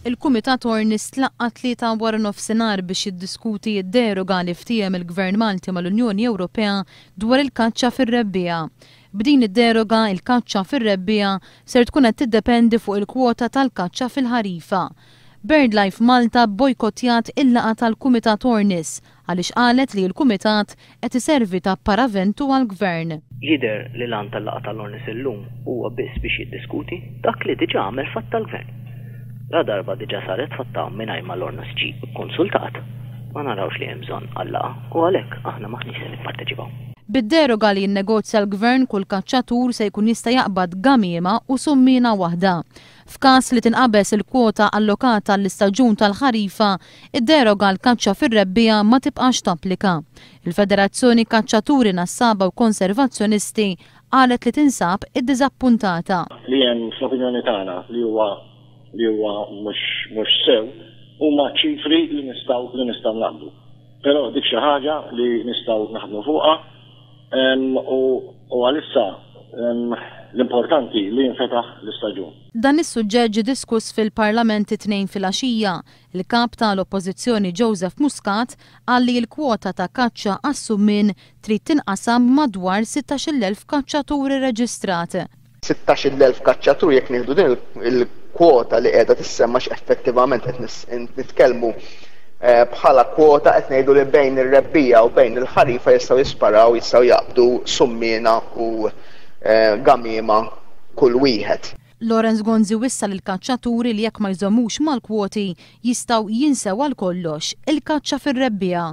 Il-Kumitat Ornis tlaqqa' t-Tlieta waranofsinhar biex jiddiskuti d-deroga li ftiehem il-Gvern Malti mal-Unjoni Ewropea dwar il-kaċċa fir-rebbiegħa. B'din id-deroga, il-kaċċa fir-rebbiegħa ser tkun qed tiddependi fuq il-kwota tal-kaċċa fil-ħarifa. BirdLife Malta bbojkottjat il-laqgħa tal-Kumitat Ornis għaliex qalet li l-Kumitat qed iservi ta' paraventu għall-Gvern. Jidher li l-għan tal-laqgħa tal-Ornis illum huwa biss biex jiddiskuti dak li diġà għamel fatta l-Gvern. Ladarba diġà saret fatta mingħajr ma l-Ornis ġie kkonsultat, ma narawx li hemm bżonn għal-laqgħa u għalhekk aħna m'aħniex se nipparteċipaw. Bid-deroga li jinnegozja l-Gvern kull kaċċatur se jkun jista' jaqbad gamiema u summiena waħda. F'każ li tinqabeż il-kwota allokata għall-istaġun tal-ħarifa, id-deroga għall-kaċċa fir-rebbiegħa ma tibqax tapplika. Il-Federazzjoni Kaċċaturi Nassaba u Konservazzjonisti qalet li tinsab iddiżappuntata. Li hemm fl-opinjoni tagħna li huwa li huwa mhux mhux sew huma ċifri li nistgħu li nistgħu naqbdu. Però dik xi ħaġa li nistgħu naħdmu fuqha u u għalissa l-importanti li jinfetaħ l-istaġun. Dan is-suġġett ġie diskuss fil-Parlament it-Tnejn filgħaxija. Il-Kap ta' l-Oppożizzjoni Joseph Muscat qal li l-kwota ta' kaċċa għas-summien trid tinqasam madwar 16,000 kaċċatur irreġistrat. 16,000 kaċċatur jekk nieħdu din il-kwota li qiegħda tissemma x'effettivament qed nitkellmu eh, bħala kwota qed ngħidu li bejn ir-rebbiegħa u bejn il-ħarifa jistgħu jisparaw, jistgħu jaqbdu summiena u eh, gamiema kull wieħed. Lawrence Gonzi wissa lill-kaċċaturi li jekk ma jżommux mal-kwoti jistgħu jinsew għal kollox il-kaċċa fir-rebbiegħa.